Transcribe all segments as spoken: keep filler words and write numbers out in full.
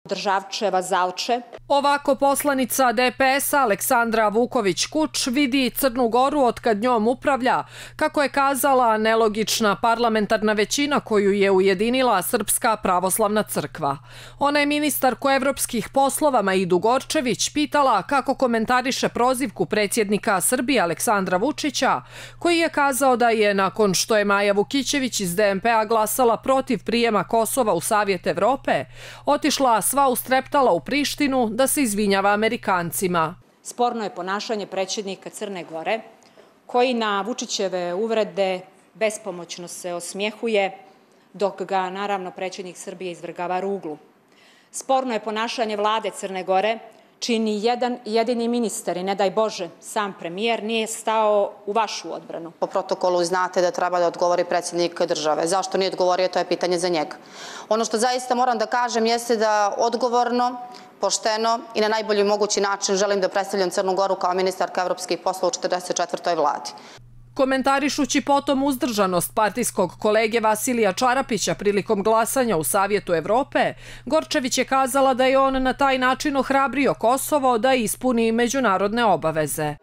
Državčeva Zalče. Ovako poslanica D P S-a Aleksandra Vuković-Kuč vidi Crnu Goru otkad njom upravlja, kako je kazala, nelogična parlamentarna većina koju je ujedinila Srpska pravoslavna crkva. Ona je ministarku evropskih poslova Maidu Gorčević pitala kako komentariše prozivku predsjednika Srbije Aleksandra Vučića, koji je kazao da je, nakon što je Maja Vukićević iz D M P-a glasala protiv prijema Kosova u Savjet Evrope, otišla sva ustreptala u Prištinu da se izvinjava Amerikancima. Sporno je ponašanje predsjednika Crne Gore, koji na Vučićeve uvrede bespomoćno se osmjehuje, dok ga, naravno, predsjednik Srbije izvrgava ruglu. Sporno je ponašanje vlade Crne Gore, čini jedan jedini ministar i, ne daj Bože, sam premijer nije stao u vašu odbranu. Po protokolu znate da treba da odgovori predsjednik države. Zašto nije odgovorio, to je pitanje za njega. Ono što zaista moram da kažem jeste da odgovorno, pošteno i na najbolji mogući način želim da predstavljam Crnu Goru kao ministarka evropskih poslova u četrdeset četvrtoj vladi. Komentarišući potom uzdržanost partijskog kolege Vasilija Čarapića prilikom glasanja u Savjetu Evrope, Gorčević je kazala da je on na taj način ohrabrio Kosovo da ispuni međunarodne obaveze.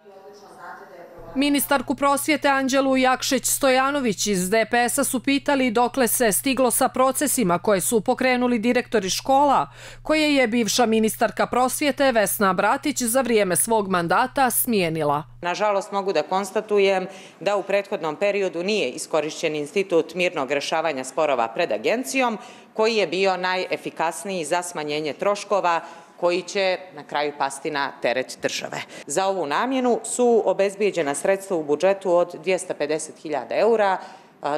Ministarku prosvjete Anđelu Jakšić-Stojanović iz D P S-a su pitali dokle se stiglo sa procesima koje su pokrenuli direktori škola, koje je bivša ministarka prosvjete Vesna Bratić za vrijeme svog mandata smijenila. Nažalost, mogu da konstatujem da u prethodnom periodu nije iskorišćen institut mirnog rešavanja sporova pred agencijom, koji je bio najefikasniji za smanjenje troškova koji će na kraju pasti na teret države. Za ovu namjenu su obezbijeđena sredstva u budžetu od dvjesto pedeset hiljada eura.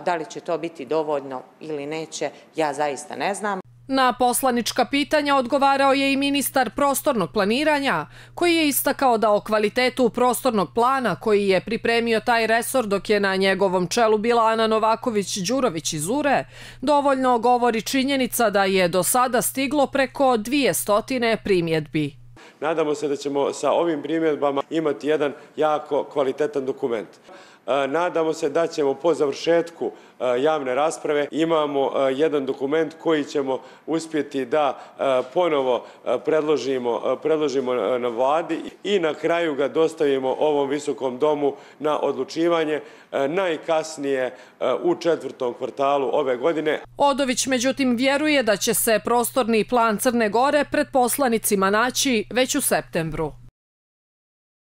Da li će to biti dovoljno ili neće, ja zaista ne znam. Na poslanička pitanja odgovarao je i ministar prostornog planiranja, koji je istakao da o kvalitetu prostornog plana koji je pripremio taj resor dok je na njegovom čelu bila Ana Novaković-Đurović iz U R E, dovoljno govori činjenica da je do sada stiglo preko dvije stotine primjedbi. Nadamo se da ćemo sa ovim primjedbama imati jedan jako kvalitetan dokument. Nadamo se da ćemo po završetku javne rasprave imamo jedan dokument koji ćemo uspjeti da ponovo predložimo na vladi i na kraju ga dostavimo ovom visokom domu na odlučivanje najkasnije u četvrtom kvartalu ove godine. Odović međutim vjeruje da će se prostorni plan Crne Gore pred poslanicima naći već u septembru.